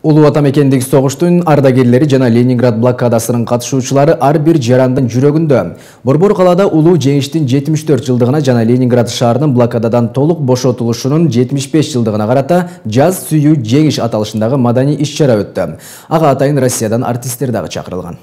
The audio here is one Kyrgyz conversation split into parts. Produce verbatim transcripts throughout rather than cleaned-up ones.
Улуу Ата мекендик согуштун ардагерлери жана Ленинград блокадасынын катышуучулары ар бир жарандын жүрөгүндө. Борбор калаада улуу жеңиштин жетимиш төрт жылдыгына жана Ленинград шаарынын блокададан толук бошотулушунун жетимиш беш жылдыгына карата жаз сүйүү жеңиш аталышындагы маданий иш-чара өттү. Ага атайын Россиядан артисттер дагы чакырылган.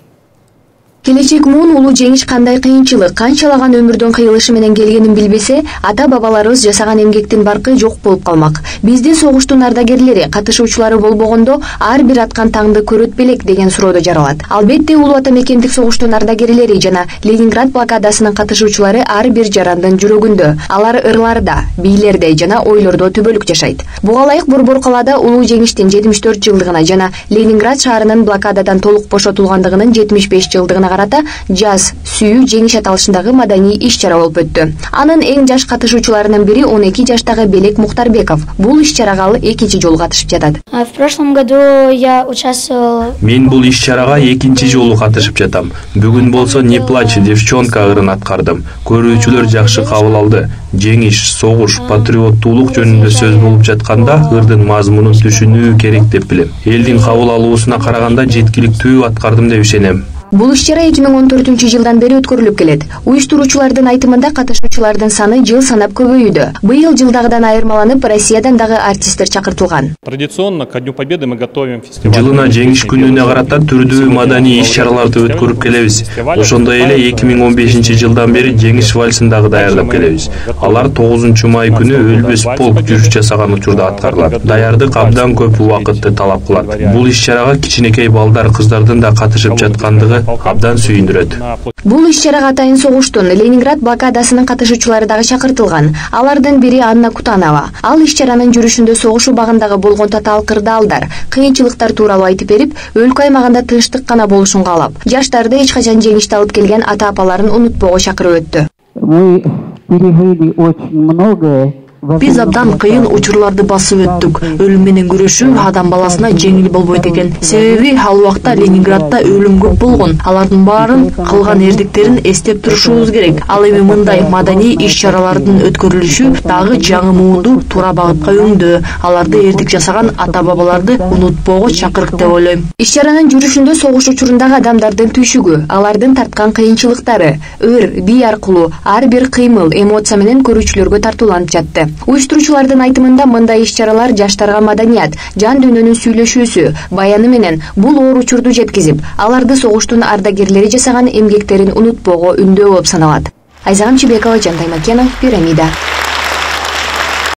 Келечек муун улуу жеңиш кандай кыйынчылык, канчалаган өмүрдүн кыйылышы менен келгенин билбесе, ата-бабаларыбыз жасаган эмгектин баркы жок болуп калмак. Бизде согуштун ардагерлери, катышуучулары болбогондо ар бир аткан таңды көрөт белек деген суроодо жаралат. Албетте, Улуу Ата мекендик согуштун ардагерлери жана Ленинград блокадасынын катышуучулары ар бир жарандын жүрөгүндө. Алар ырларда, бийлерде жана ойлордо түбөлүк жашайт. Буга ылайык Борбор калаада улуу жеңиштин жетимиш төрт жылдыгына жана Ленинград шаарынын блокададан толук бошотулгандыгынын жетимиш беш жылдыгына карата жаз сүйүү жеңиш аталышындагы маданий иш-чара болуп өттү. Анын эң жаш катышуучуларынын бири он эки жаштагы Белек Мухтарбеков. Бул иш-чарага ал экинчи жолу катышып жатат. В прошлом году я участвовал. Мен бул иш-чарага экинчи жолу катышып жатам. Бүгүн болсо "Не плачь, девчонка" ырын аткардым. Көрүүчүлөр жакшы кабыл алды. Жеңиш, согуш, патриоттуулук жөнүндө сөз болуп жатканда ырдын мазмунун түшүнүү керек деп билем. Элдин кабыл алуусуна караганда жеткиликтүү аткардым деп ишенем. Бул иш-чара эки миң он төртүнчү жылдан бери өткөрүлүп келет. Уюштуруучулардын айтымында катышуучулардын саны жыл санап көбөйүүдө. Быйыл жылдагыдан айырмаланып, Россиядан дагы артисттер чакыртылган. Традиционно ко Дню Победы мы готовим фестиваль. Жылына жеңиш күнүнө карата түрдүү маданий иш-чараларды өткөрүп келебиз. Ошондой эле эки миң он бешинчи жылдан бери жеңиш вальсин дагы даярдап келебиз. Алар тогузунчу май күнү Өлбөс полк жүрүш жасаган учурда аткарылат. Даярдык абдан көп убакытты талап кылат. Бул иш-чарага кичинекей балдар, кыздардын да катышып жаткандыгы абдан сүйүндүрөт. Бул иш-чарага атайын согуштун Ленинград блокадасынын катышуучулары дагы чакыртылган. Алардын бири Анна Кутанова. Ал иш-чаранын жүрүшүндө согуш убагындагы болгон татаал кырдаалдар, кыйынчылыктар тууралуу айтып берип, өлкө аймагында тынчтык гана болушун каалап, жаштарды эч качан жеңишти алып келген ата-апаларын унутпоого чакырып өттү. Биз абдан кыйын учурларды басып өттүк. Өлүм менен күрөшүү адам баласына жеңил болбойт экен. Себеби ал убакта Ленинградда өлүм көп болгон. Алардын баарын кылган эрдиктерин эстеп турушубуз керек. Ал эми мындай маданий иш-чаралардын өткөрүлүшү дагы жаңы муунду туура багытка өңдөө. Аларды эрдик жасаган ата-бабаларды унутпоого чакырык деп ойлойм. Иш-чаранын жүрүшүндө согуш учурундагы адамдардын түшүгү, алардын тарткан кыйынчылыктары, өр, бий аркылуу ар бир кыймыл, эмоция менен көрүүчүлөргө тартууланып жатты. Уюштуруучулардын айтымында мындай иш-чаралар жаштарга маданият, жан дүйнөнүн сүйлөшүүсү, баяны менен бул оор учурду жеткизип, аларды согуштун ардагерлери жасаган эмгектерин унутпоого үндөө болуп саналат. Айзагам Чебекова, Жантай Макенов, Пирамида.